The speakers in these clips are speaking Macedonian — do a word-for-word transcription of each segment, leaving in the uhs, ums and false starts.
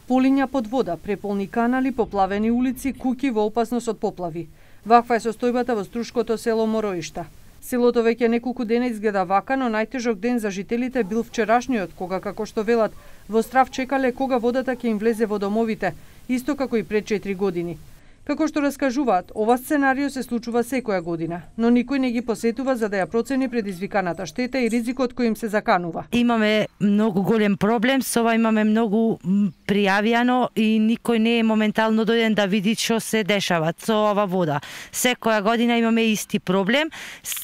Полиња под вода, преполни канали, поплавени улици, куќи во опасност од поплави. Ваква е состојбата во струшкото село Мороишта. Селото веќе неколку дена изгледа вака, но најтежок ден за жителите бил вчерашниот, кога, како што велат, во страв чекале кога водата ќе им влезе во домовите, исто како и пред четири години. Како што раскажуваат, ова сценарио се случува секоја година, но никој не ги посетува за да ја процени предизвиканата штета и ризикот кој им се заканува. Имаме многу голем проблем, со ова имаме многу пријавијано и никој не е моментално дојден да види што се дешава со ова вода. Секоја година имаме исти проблем.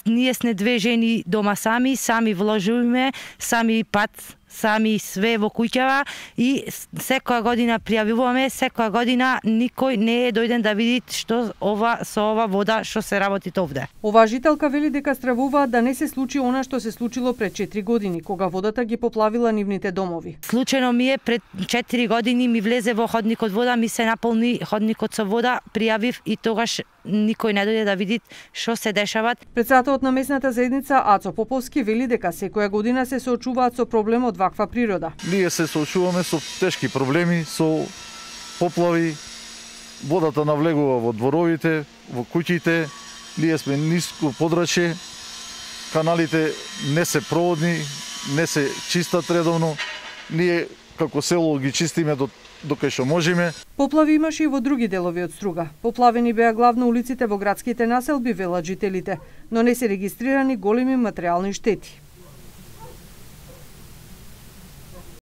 Ние сме две жени дома сами, сами вложуваме, сами пат, сами све во куќава и секоја година пријавуваме, секоја година никој не е дојден да види што ова со ова вода што се работи овде. Оваа жителка вели дека стравуваат да не се случи она што се случило пред четири години, кога водата ги поплавила нивните домови. Случајно ми е пред четири години ми влезе во ходникот вода, ми се наполни ходникот со вода, пријавив и тогаш никој не дојде да види што се дешават. Председателот на местната заедница Ацо Поповски вели дека секоја година се соочуваат со проблем од ваква природа. Ние се соочуваме со тешки проблеми, со поплави, водата навлегува во дворовите, во куќите, ние сме ниско подрачје, каналите не се проводни, не се чистат редовно, ние како село ги чистиме до докај што можеме. Поплави имаше и во други делови од Струга. Поплавени беа главно улиците во градските населби, велат жителите, но не се регистрирани големи материјални штети.